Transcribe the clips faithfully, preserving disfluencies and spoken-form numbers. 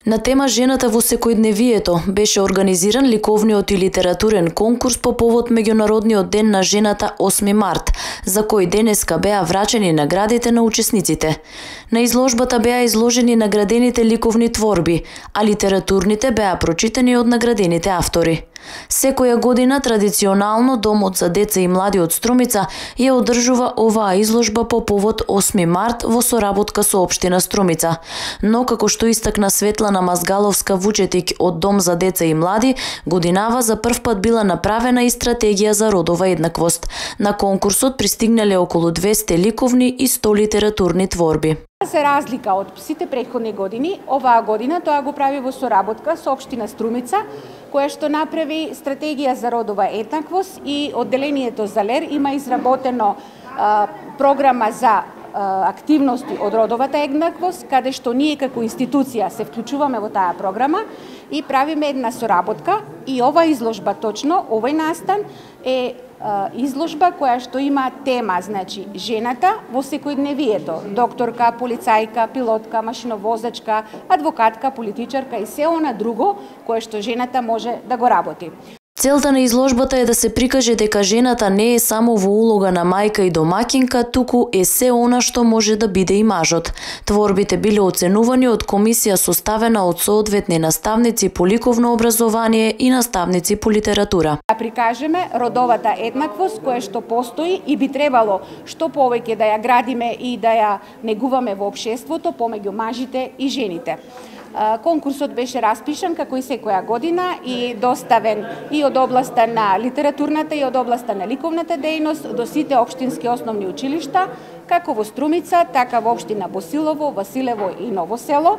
На тема жената во секојдневието беше организиран ликовниот и литературен конкурс по повод Меѓународниот ден на жената осми март, за кој денеска беа врачени наградите на учесниците. На изложбата беа изложени наградените ликовни творби, а литературните беа прочитани од наградените автори. Секоја година традиционално Домот за деца и млади од Струмица ја одржува оваа изложба по повод осми март во соработка со општина Струмица. Но како што истакна Светлана Мазгаловска-Вучетик од Дом за деца и млади, годинава за прв пат била направена и стратегија за родова еднаквост. На конкурсот пристигнале околу двесте ликовни и сто литературни творби. За разлика од сите претходни години, оваа година тоа го прави во соработка со општина Струмица, која што направи стратегија за родова еднаквост и одделението за ЛЕР има изработено а, програма за а, активности од родовата еднаквост, каде што ние како институција се вклучуваме во таа програма и правиме една соработка и ова изложба точно, овој настан е изложба која што има тема, значи, жената во секојдневието, докторка, полицајка, пилотка, машиновозачка, адвокатка, политичарка и се она друго кое што жената може да го работи. Целта на изложбата е да се прикаже дека жената не е само во улога на мајка и домаќинка, туку е се она што може да биде и мажот. Творбите биле оценувани од комисија составена од соодветни наставници по ликовно образование и наставници по литература. Да прикажеме родовата еднаквост која што постои и би требало што повеќе да ја градиме и да ја негуваме во општеството помеѓу мажите и жените. Конкурсот беше распишан како и секоја година и доставен и од областа на литературната и од областа на ликовната дејност до сите општински основни училишта, како во Струмица, така во општина Босилово, Василево и Ново село.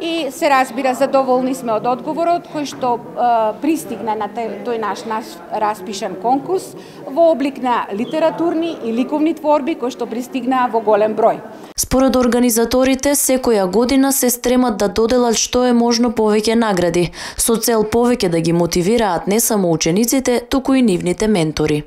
И се разбира, задоволни сме од одговорот кој што е, пристигна на тој наш, наш распишан конкурс во облик на литературни и ликовни творби кои што пристигнаа во голем број. Според организаторите, секоја година се стремат да доделат што е можно повеќе награди, со цел повеќе да ги мотивираат не само учениците, туку и нивните ментори.